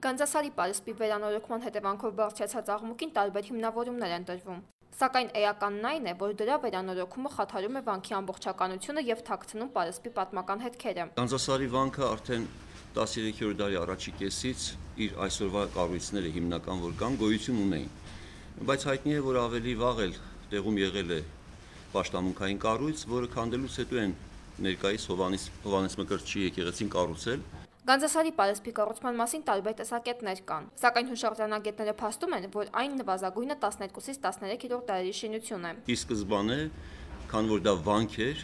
Գանձասարի պարիսպի վերանորոգման հետևանքով բարձրացած աղմուկին տարբեր հիմնավորումներ են տրվում։ Սակայն էականն այն է, որ դրա վերանորոգումը խաթարում է վանքի ամբողջականությունը եւ թաքցնում պարիսպի պատմական հետքերը։ Գանձասարի վանքը արդեն 13-րդ դարի առաջի կեսից իր այսօրվա կառույցները հիմնական որ կան գոյություն ունեին, բայց հայտնի է, որ ավելի վաղ էլ տեղում եղել է պաշտամունքային կառույց, որը քանդելուց հետո են ներկայիս Հովհաննես Մկրտչի եկեղեցին կառուցել։ Գանձասարի պարիսպի կառուցման մասին տարբեր տեսակետներ կան, սակայն հուշարձանագետները փաստում են, որ այն նվազագույնը 12-ից 13-րդ դարերի շինություն է։ Ի սկզբանե, քան որ դա վանք էր,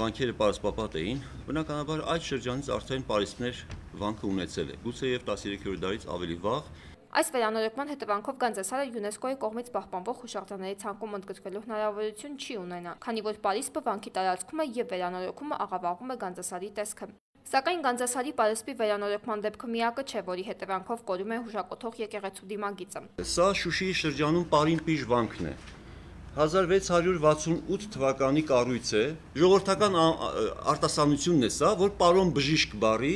վանքերը պարսպապատ էին, բնականաբար այդ շրջանից արդեն պարիսպներ վանքը ունեցել է, գուցե եւ 13-րդ դարից ավելի վաղ։ Այս վերանորոգման հետևանքով Գանձասարը ՅՈՒՆԵՍԿՕ-ի կողմից պահպանվող հուշարձանների ցանկում ընդգրկվելու հնարավորություն չի ունենա, քանի որ պարիսպը վանքի տարածումը եւ վերանորոգումը աղավաղում է Գանձասարի տեսքը։ Սակայն Գանձասարի պարիսպի վերանորոգման դեպքը միակը չէ, որի հետևանքով կորում է հուշակոթող եկեղեցու դիմագիծը։ Սա Շուշիի շրջանում Պարինպիժ վանքն է։ 1668 թվականի կառույց է, ժողովրդական արտասանությունն է սա, որ պարոն բժիշկ բառի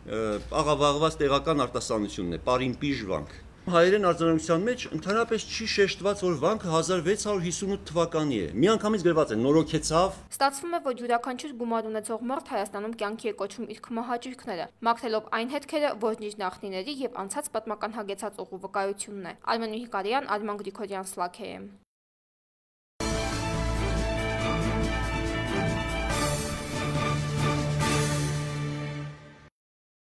աղավաղված տեղական արտասանությունն է, Պարինպիժ վանք։ Հայերեն արձանագրության մեջ ընդհանրապես չի շեշտված, որ վանքը 1658 թվականի է։ Միանգամից գրված է նորոգեցավ։ Ստացվում է, որ յուրաքանչյուր գումար ունեցող մարդ Հայաստանում կյանքի է կոչում իր քմահաճույքները, մաքրելով այն հետքերը, որն իր նախնիների եւ անցած պատմական հագեցած ուղու վկայությունն է։ Արմեն Միհիկարյան, Արման Գրիգորյան, Սլաքեյ։